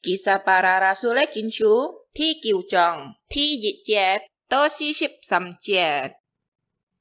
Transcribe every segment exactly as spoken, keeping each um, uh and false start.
Kisah Para Rasul个經書第九章第一節到四十三節。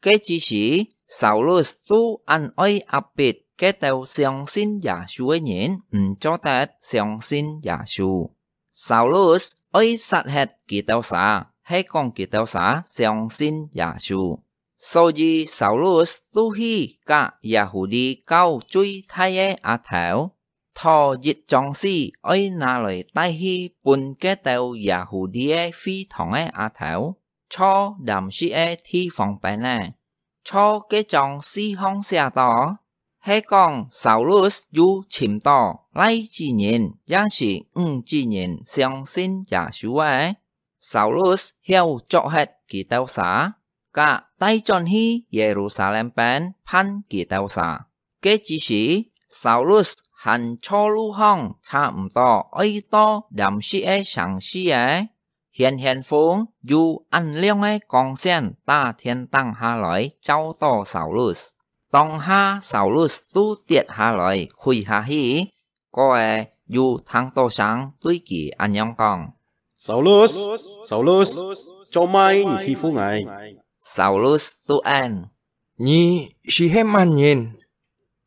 該之時，Saulus都恁愛壓迫該兜相信耶穌个人，毋做得相信耶穌。Saulus愛殺忒佢兜儕，係講佢兜儕相信耶穌。所以Saulus都去佮Yahudi教最大个阿頭， 討一張紙愛拿來帶去分該兜Yahudi个會堂个阿頭，坐Damsik个地方邊仔。坐該張紙項寫到，係講Saulus有尋到倈子人也係女子人相信耶穌个。Saulus曉捉忒佢兜儕， 佮帶轉去Yerusalem邊判佢兜儕。該之時，Saulus還坐路項差毋多愛到Damsik个城市仔，顯顯風有恁亮个光線打天頂下來照到Saulus。當下Saulus都跌下來跪下去， 過仔有聽到聲對佢恁樣講：「Saulus，Saulus，做麼你欺負𠊎？」Saulus都應：「你係係麼人？」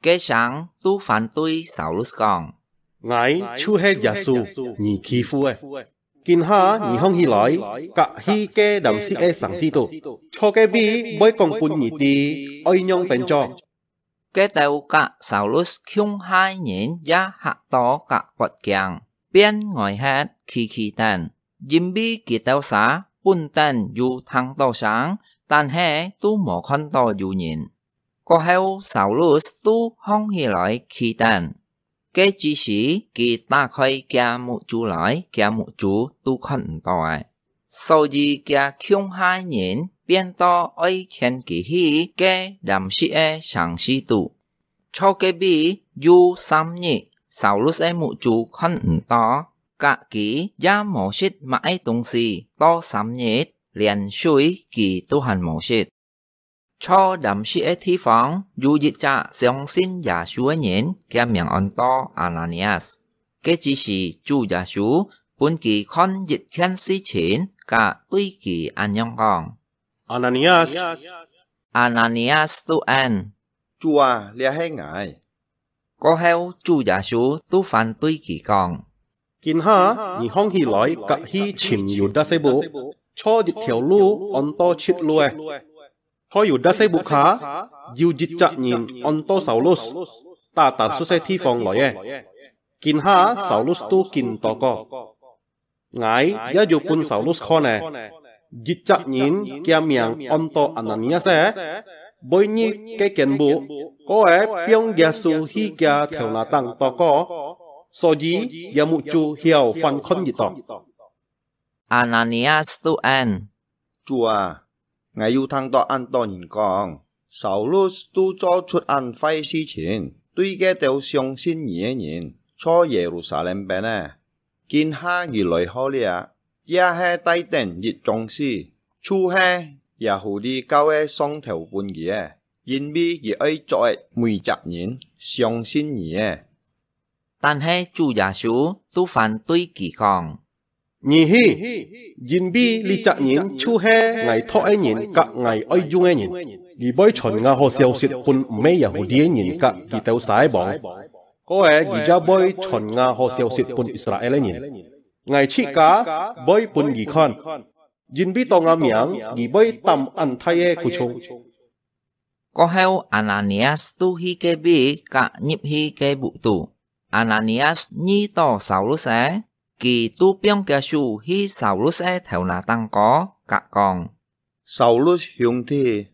該聲都反對Saulus講：「𠊎就係耶穌，你欺負个。今下你䟘起來，跼去該Damsik个城市肚，坐該位會講分你知愛仰般做。」 該兜佮Saulus共下个人也嚇到甲發驚，變呆忒企企等，因為佢兜儕本等有聽到聲，但係都無看到有人。過後Saulus都䟘起來企等，該之時佢打開厥目珠來，厥目珠都看毋到咧。 所以厥共下个人變到愛牽佢去該Damsik个城市肚。坐該位有三日，Saulus个目珠看毋到，甲佢也無食麼个東西，到三日，連水佢都還無食。 坐Damsik个地方，有一隻相信耶穌个人，厥名安到Ananias。該之時主耶穌分佢看一件事情，甲對佢恁樣講：「Ananias！」Ananias都應：「主啊，這係𠊎。」 過後主耶穌都反對佢講：「今下你䟘起來，跼去尋猶大細目，坐一條路安到直路仔。在猶大細目下，有一隻人安到Saulus，打Tarsus个地方來个。今下Saulus都緊禱告。 𠊎也有分Saulus看咧，一隻人厥名安到Ananias仔，會入該間屋，過仔放耶穌去厥頭那頂禱告，所以厥目珠曉翻看一到。」Ananias都應：「主啊， 𠊎有聽到恁多人講，Saulus都做出恁壞事情，對該兜相信你个人，在Yerusalem邊仔。今下佢來好了，也係帶等一張紙，就係Yahudi教个上頭分佢个，因為佢愛捉个每隻人相信你个。」但係主耶穌都反對佢講： 「你去，因為這隻人就係𠊎託个人甲𠊎愛用个人。佢會傳𠊎好消息分毋係Yahudi个人甲佢兜儕个王，過仔佢也會傳𠊎好消息分Israel个人。𠊎自家會分佢看，因為到𠊎名，佢會擔恁大个苦衷。」 過後，Ananias都去該位甲入去該屋肚。Ananias遇到Saulus仔，佢都放厥手去Saulus个頭那頂高，甲講：「Saulus兄弟，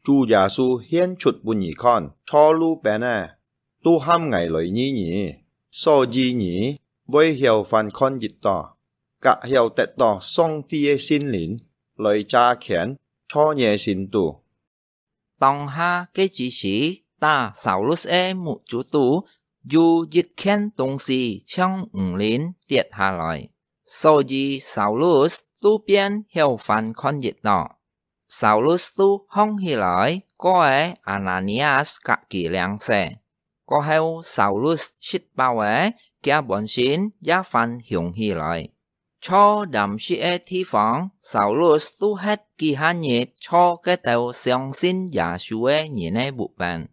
主耶穌顯出分你看，坐路邊仔，都喊𠊎來醫你，所以你會曉翻看一到，甲曉得到上帝个聖靈來遮圈在你个心肚。」 當下該之時，打Saulus个目珠肚有一件東西像魚鱗跌下來，所以Saulus都變曉翻看一到。Saulus都䟘起來，過仔Ananias甲佢領洗。過後，Saulus食飽了，厥本身也翻雄起來。坐巖石个地方，Saulus都歇幾下日坐該兜相信耶穌个人个屋背。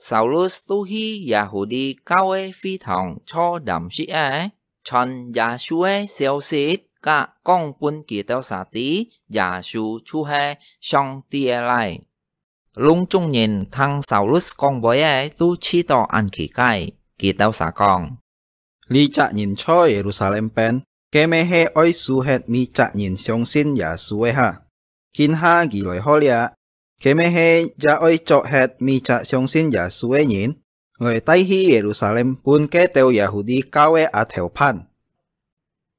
Saulus都去耶穌教个會堂坐巖石仔，傳耶穌个消息，甲講分佢兜儕知，耶穌就係上帝个倈。 攏總人聽Saulus講話仔都試著恁奇怪，佢兜儕講：「這隻人在Yerusalem邊，該乜係愛收忒每隻人相信耶穌个哈？今下佢來好了，該乜係也愛捉忒每隻相信耶穌个人，來帶去Yerusalem分該兜Yahudi教个阿頭辦。」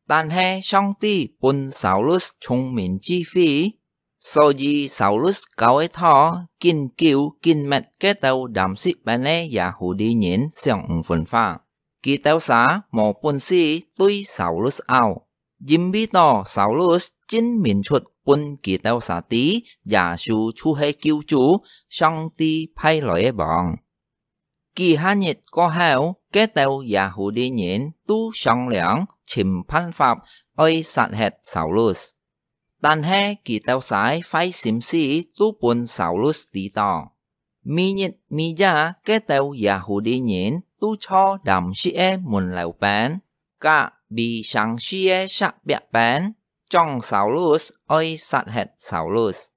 但係上帝分Saulus聰明智慧，所以Saulus教个道緊久緊密該兜巖石邊个Yahudi人想毋分化，佢兜儕無本事對Saulus拗，因為到Saulus真明出分佢兜儕知耶穌就係救主，上帝派來个王。 幾下日過後，該兜Yahudi人都商量尋辦法愛殺忒Saulus。但係佢兜儕壞心思都分Saulus知著。每日每夜，該兜Yahudi人都坐巖石个門樓邊，甲圍城市个石壁邊， 將Saulus愛殺忒Saulus。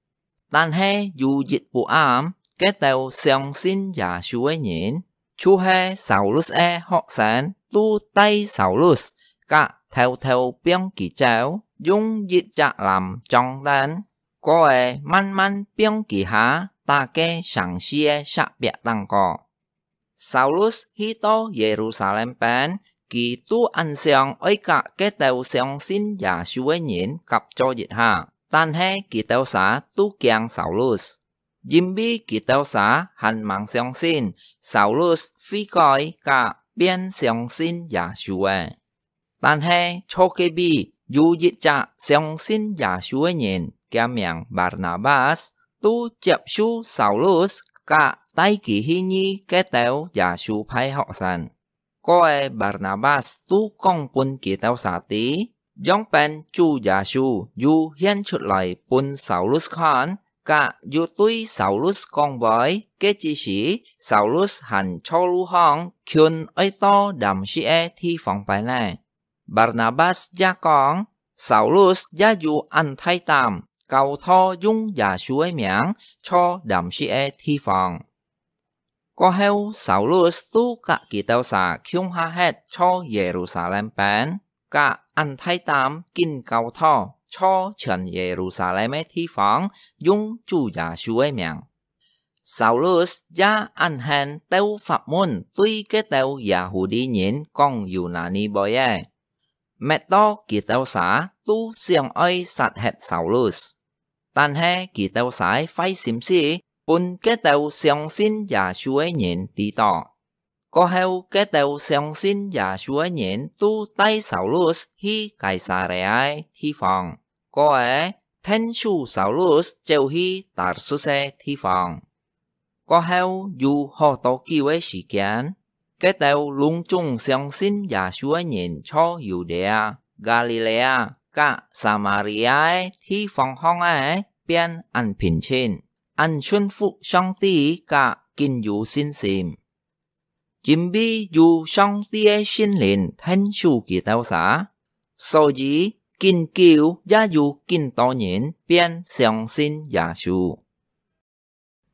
但係有一晡暗，該兜相信耶穌个人，就係Saulus个學生，都帶Saulus，甲偷偷放佢走，用一隻籃裝等，過仔慢慢放佢下，打該城市个石壁頂高。 Saulus去到Yerusalem邊，佢都恁想愛甲該兜相信耶穌个人合作一下，但係佢兜儕都驚Saulus，因為佢兜儕還吂相信Saulus會改甲變相信耶穌个。 但係坐隔壁有一隻相信耶穌个人，厥名Barnabas，都接受Saulus，甲帶佢去遇該兜耶穌派學生。過仔Barnabas都講分佢兜儕知，仰般主耶穌又顯出來分Saulus看，甲又對Saulus講話，該之時Saulus還坐路項，近愛到Damaskus个地方擺呢。 Barnabas也講，Saulus也有恁大膽，教徒用耶穌个名坐Damaskus个地方。過後，Saulus都甲佢兜儕共下歇坐Yerusalem邊，甲恁大膽緊教徒坐全Yerusalem个地方，用主耶穌个名。 Saulus也恁恨鬥法門對該兜Yahudi人講Yunani話个，搣到佢兜儕都想愛殺忒Saulus。但係佢兜儕个壞心思，分該兜相信耶穌个人知到。過後，該兜相信耶穌个人都帶Saulus去該撒利亞个地方。 過仔，𢯭手Saulus走去Tarsus个地方。過後有好多久个時間，該兜攏總相信耶穌个人坐Yudea、Galilea甲Samaria个地方項仔變恁平靜，恁順服上帝甲緊有信心。 因為有上帝个聖靈𢯭手佢兜儕，所以緊久也有緊多人變相信耶穌。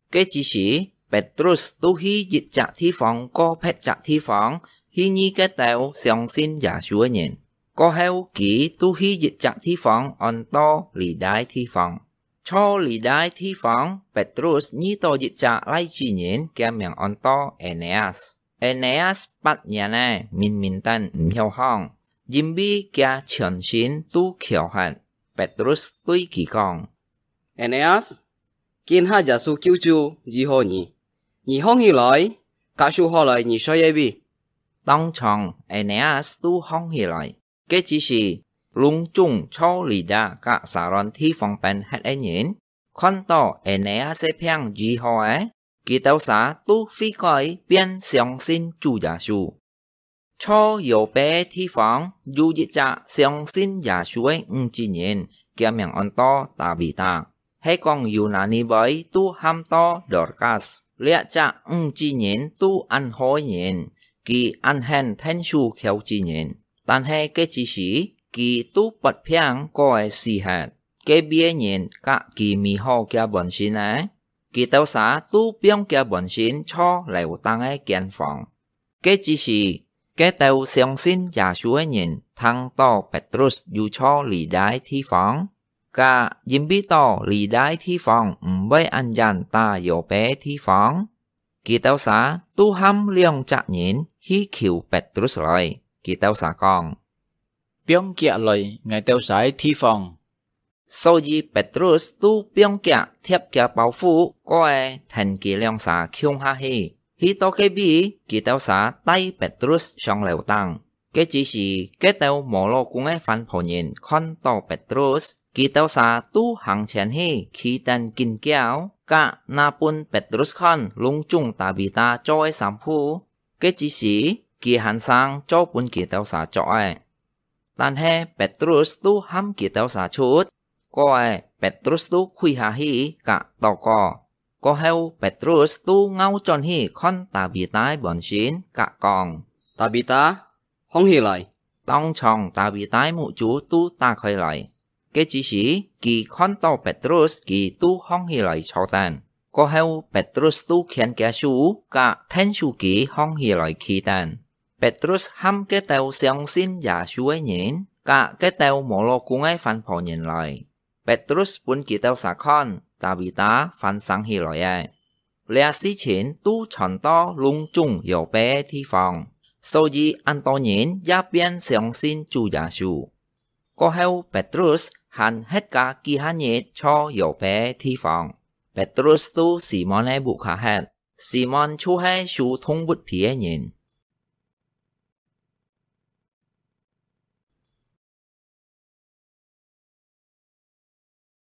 該之時，Petrus都去一隻地方過別隻地方，去遇該兜相信耶穌个人。過後，佢都去一隻地方安到Lidda个地方。 坐Lidda个地方，Petrus遇到一隻倈子人，厥名安到Eneas。Eneas八年仔，明明等毋曉行，因為厥全身都翹忒。Petrus對佢講：「Eneas，今下耶穌救主醫好你，你䟘起來，甲手下來你睡个位。」當場，Eneas都䟘起來。 該之時，攏總坐Lidda甲Saron地方邊歇个人，看到Eneas个病醫好仔，佢兜儕都會改變相信主耶穌。坐搖揹个地方有一隻相信耶穌个女子人，厥名安到Tabita，係講Yunani話都喊到Dorcas。這隻女子人都恁好个人，佢恁肯𢯭手跷子人，但係該之時，佢都發病過个死忒。該位个人佮佢醫好厥本身呢？佢兜儕都放厥本身坐樓頂个間房。該之時，該兜相信耶穌个人聽到Petrus有坐這兜地方，佮因為到這兜地方毋會恁遠打搖揹个地方，佢兜儕都喊兩隻人去求Petrus來。佢兜儕講：「放厥來𠊎兜儕个地方。」所以Petrus都放厥貼厥包袱過个跈佢兩儕共下去。去到該位，佢兜儕帶Petrus上樓頂。該之時，該兜無老公个番婆人看到Petrus，佢兜儕都行前去，企等緊噭，佮拿分Petrus看，攏總Tabita做个衫褲。該之時，佢還生做分佢兜儕著个。 但係Petrus都喊佢兜儕出，過个Petrus都跪下去佮禱告。過後Petrus都拗轉去看Tabita个本身，佮講：「Tabita，䟘起來！」當場Tabita个目珠都打開來。該之時，佢看到Petrus，佢都䟘起來坐等。過後Petrus都牽厥手，佮𢯭手佢䟘起來企等。 Petrus喊該兜相信耶穌个人，佮該兜無老公个番婆人來。Petrus分佢兜儕看，Tabita還生起來了。這事情都傳到攏總搖揹个地方，所以恁多人也變相信主耶穌。過後Petrus還歇加幾下日坐搖揹个地方。Petrus到Simon个屋下歇，Simon就係收動物皮个人。